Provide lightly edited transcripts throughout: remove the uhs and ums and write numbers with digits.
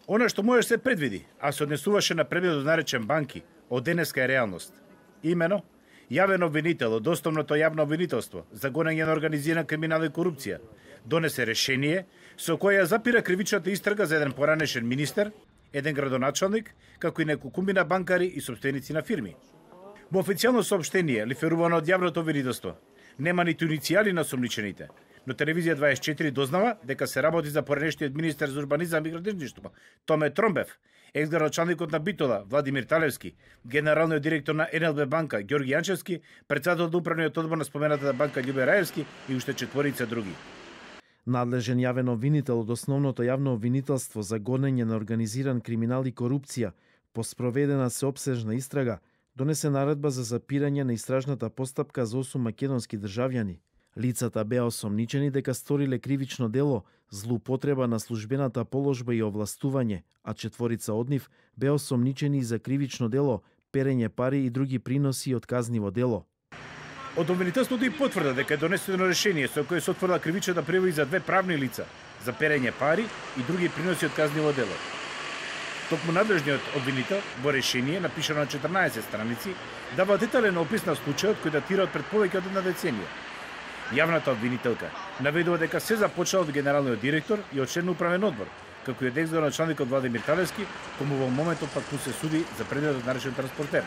Она што можеше се предвиди, а се однесуваше на предметот наречен банки, од денеска е реалност. Имено, јавен обвинител од основното јавно обвинителство за гонење на организиран криминал и корупција донесе решение со кое ја запира кривичната истрага за еден поранешен министер, еден градоначалник, како и неколкумина банкари и сопственици на фирми. Во официјално соопштение, лиферувано од јавното обвинителство, нема ниту иницијали на сомничените, но Телевизија 24 дознава дека се работи за поранешниот министер за урбанизам и градежништво, Томе Тромбев, екс-градоначалникот на Битола, Владимир Талевски, генералниот директор на НЛБ банка, Ѓорги Јанчевски, председател на управниот одбор на споменатата банка Љубе Раевски и уште четворица други. Надлежен јавен обвинител од основното јавно обвинителство за гонење на организиран криминал и корупција по спроведена сеопсежна истрага донесе наредба за запирање на истражната постапка за 8 македонски државјани. Лицата беа осомничени дека сториле кривично дело, злоупотреба на службената положба и овластување, а четворица од нив беа осомничени за кривично дело, перење пари и други приноси од казниво дело. Од обвинителството и потврда дека е донесено решение со кое се отворила кривичната прива и за две правни лица за перење пари и други приноси од казниво дело. Токму надлежниот обвинител во решение, напишано на 14 страници, дава детален опис на случајот кој датира од пред повеќе од една деценија. Јавната обвинителка наведува дека се започнало од генералниот директор и од член на управен одбор, како и од екс-градоначалникот Владимир Талевски, кому во моментот пак му се суди за предметот наречен транспортер.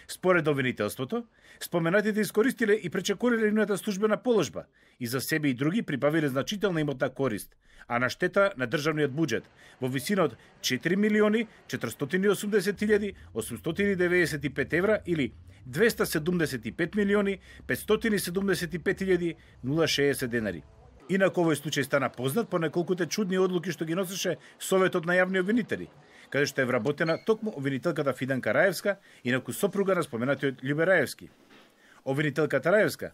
Според обвинителството, споменатите искористиле и пречекориле нивната службена положба и за себе и други прибавиле значителна имотна корист, а на штета на државниот буџет во висина од 4.480.895 евра или 275.575.060 денари. Инаку овој случај стана познат по неколкуте чудни одлуки што ги носеше Советот на јавни обвинители, каде што е вработена токму обвинителката Фиданка Раевска, инаку сопруга на споменатиот Љубе Раевски. Обвинителката Раевска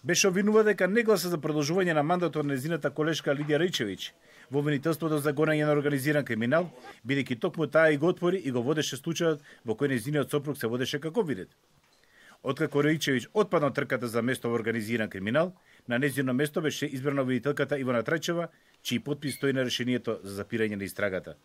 беше обвинува дека не гласа за продолжување на мандатот на незината колешка Лидија Рајчевиќ во обвинителството за гонење на организиран криминал, бидејќи токму таа и го отвори и го водеше случајот во кој незиниот сопруг се водеше како видет. Откако Рајчевиќ отпадна од трката за место во организиран криминал, на незино место беше избрана обвинителката Ивана Трајчева, чиј потпис стои на решението за запирање на истрагата.